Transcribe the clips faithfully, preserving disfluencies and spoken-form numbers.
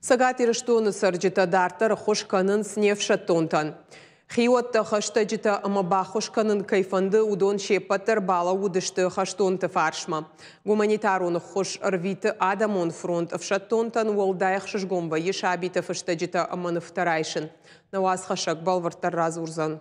Цӕгат Ирыстоны цӕрджытӕ дарддӕр ӕххуыс кӕнынц не фсӕддонтӕн. Хиуӕттӕ, хӕстӕджытӕ ӕмӕ баххуыс кӕнын кӕй фӕнды, уыдон се ппӕт дӕр балӕууыдысты хӕстонты фарсмӕ. Гуманитарон ӕххуыс ӕрвиты Адӕмон фронт. Ӕфсӕддонтӕн уӕлдай ӕхсызгон вӕййы сабиты фыстӕджытӕ ӕмӕ нывтӕ райсын. Нӕ уацхӕссӕг бӕлвырддӕр радзурдзӕн.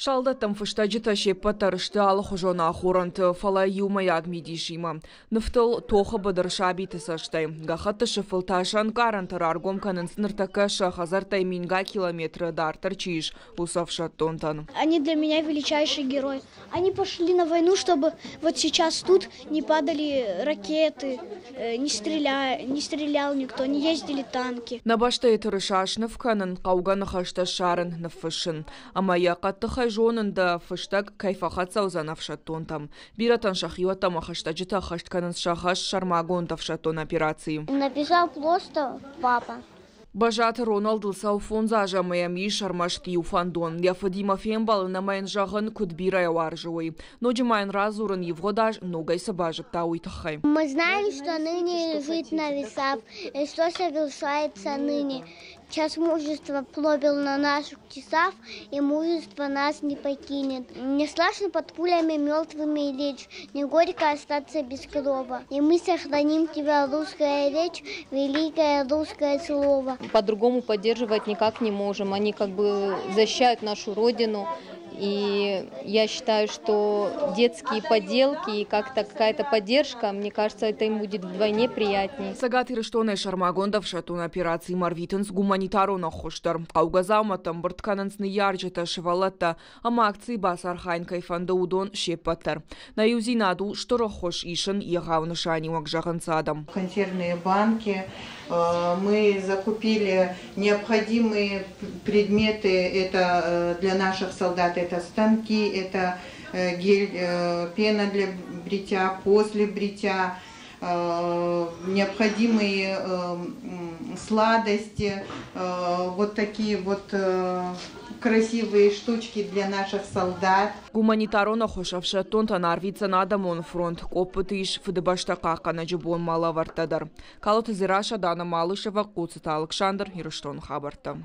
Салдӕттӕм фыстӕджытӕ се ппӕт дӕр сты алыхуызон ахорӕнты, фӕлӕ иумӕйаг мидисимӕ. Нывтыл тохы быдыр сабиты цӕстӕй. Гӕххӕтты сыфыл та сӕ ӕнкъарӕнтӕ раргом кӕнынц, ныртӕккӕ сӕ хӕдзӕрттӕй мингай километры дарддӕр чи ис, уыцы ӕфсӕддонтӕн. Они для меня величайшие герои. Они пошли на войну, чтобы вот сейчас тут не падали ракеты, не, стреля, не стрелял никто, не ездили танки. Нӕ бӕстӕйы тырыса сныв кӕнын, хъӕугӕ ныхӕстӕ ссарын, ныффыссын. Ӕмӕ йӕ хъӕддыхӕй зонын, дӕ фыстӕг кӕй фӕхӕццӕ уыдзӕн ӕфсӕддонтӕм. Бирӕтӕн сӕ хиуӕттӕ ӕмӕ хӕстӕджытӕ ӕххӕст кӕнынц сӕ хӕс сӕрмагонд ӕфсӕддон операцийы. Написал просто папа. Бӕзаты Роналдыл цӕуы фондз азы ӕмӕ йӕм ис ӕрмӕст иу фӕндон. Йӕ фыдимӕ фембӕлын ӕмӕ йын зӕгъын, куыд бирӕ йӕ уарзы, уый. Ноджы ма йын радзурын, ивгъуыд аз ногӕй цы базыдта, уый тыххӕй. Мы знаем, что ныне лежит на весах, и что совершается ныне. Час мужества пробил на наших часах, и мужество нас не покинет. Не страшно под пулями мертвыми лечь, не горько остаться без крова. И мы сохраним тебя, русская речь, великое русское слово. По-другому поддерживать никак не можем. Они как бы защищают нашу родину. И я считаю, что детские поделки и как-то какая-то поддержка, мне кажется, это им будет вдвойне приятней. Цӕгат Ирыстонӕй сӕрмагонд ӕфсӕддон операцимӕ ӕрвитынц гуманитарон ӕххуыс дӕр. Хъӕугӕ дзаумӕттӕ ӕмбырд кӕнынц ныййарджытӕ, сывӕллӕттӕ ӕмӕ акцийы бацархайын кӕй фӕнды, уыдон се ппӕт дӕр. Нӕ иудзинад у стыр ӕххуыс, ис ын егъау нысаниуӕг, зӕгъынц адӕм. Консервные банки, мы закупили необходимые предметы, это для наших солдат, это станки, это гель, пена для бритья, после бритья, необходимые сладости, вот такие вот красивые штучки для наших солдат. Гуманитарон ӕххуыс ӕфсӕддонтӕн арвитдзӕн Адӕмон фронт. Къоппыты ис Фыдыбӕстӕ хъахъхъӕнӕджы бонмӕ лӕвӕрттӕ дӕр. Калоты Дзерассӕ, Дана Малышева, Хъоцыты Алыксандр, Ирыстоны хабӕрттӕ.